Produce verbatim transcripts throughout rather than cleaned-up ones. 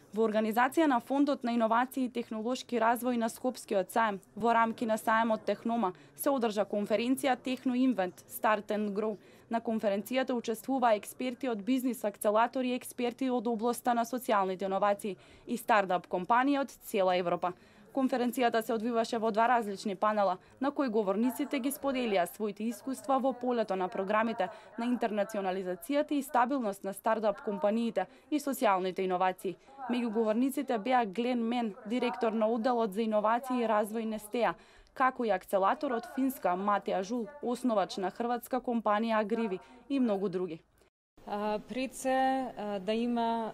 Во организација на Фондот на иновации и технолошки развој на Скопскиот саем, во рамки на саемот Технома, се одржа конференција Техно Инвент Start and Grow. На конференцијата учествуваа експерти од бизнис акцелатори и експерти од областа на социјалните иновации и стартап компании од цела Европа. Конференцијата се одвиваше во два различни панела, на кои говорниците ги споделија своите искуства во полето на програмите на интернационализацијата и стабилност на стартап компаниите и социјалните иновации. Меѓу говорниците беа Глен Мен, директор на одделот за иновации и развој Нестеа, како и акцелатор од Финска Матеа Жул, основач на хрватска компанија Агриви и многу други. Пред се да има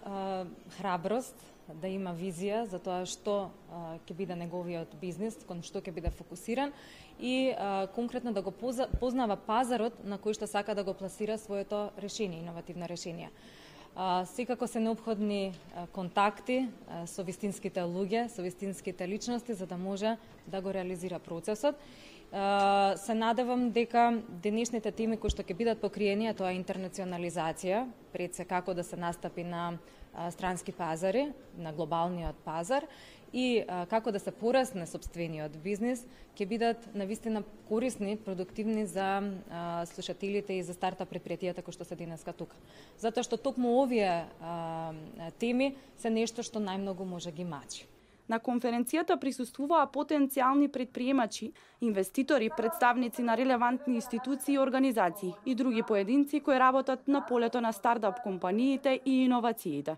храброст, да има визија за тоа што ќе биде неговиот бизнис, кон што ќе биде фокусиран и а, конкретно да го познава пазарот на кој што сака да го пласира своето решение, иновативно решение. А, секако се необходни а, контакти а, со вистинските луѓе, со вистинските личности за да може да го реализира процесот. А, се надевам дека денешните теми кои што ќе бидат покриени, тоа е интернационализација, пред се како да се настапи на странски пазари, на глобалниот пазар и а, како да се порасне сопствениот бизнис, ќе бидат навистина корисни, продуктивни за а, слушателите и за стартап предпријатијата кои што се денеска тука. Затоа што токму овие а, теми се нешто што најмногу може ги мачи. На конференцијата присуствуваа потенцијални предприемачи, инвеститори, представници на релевантни институции и организации и други поединци кои работат на полето на стартап компаниите и иновациите.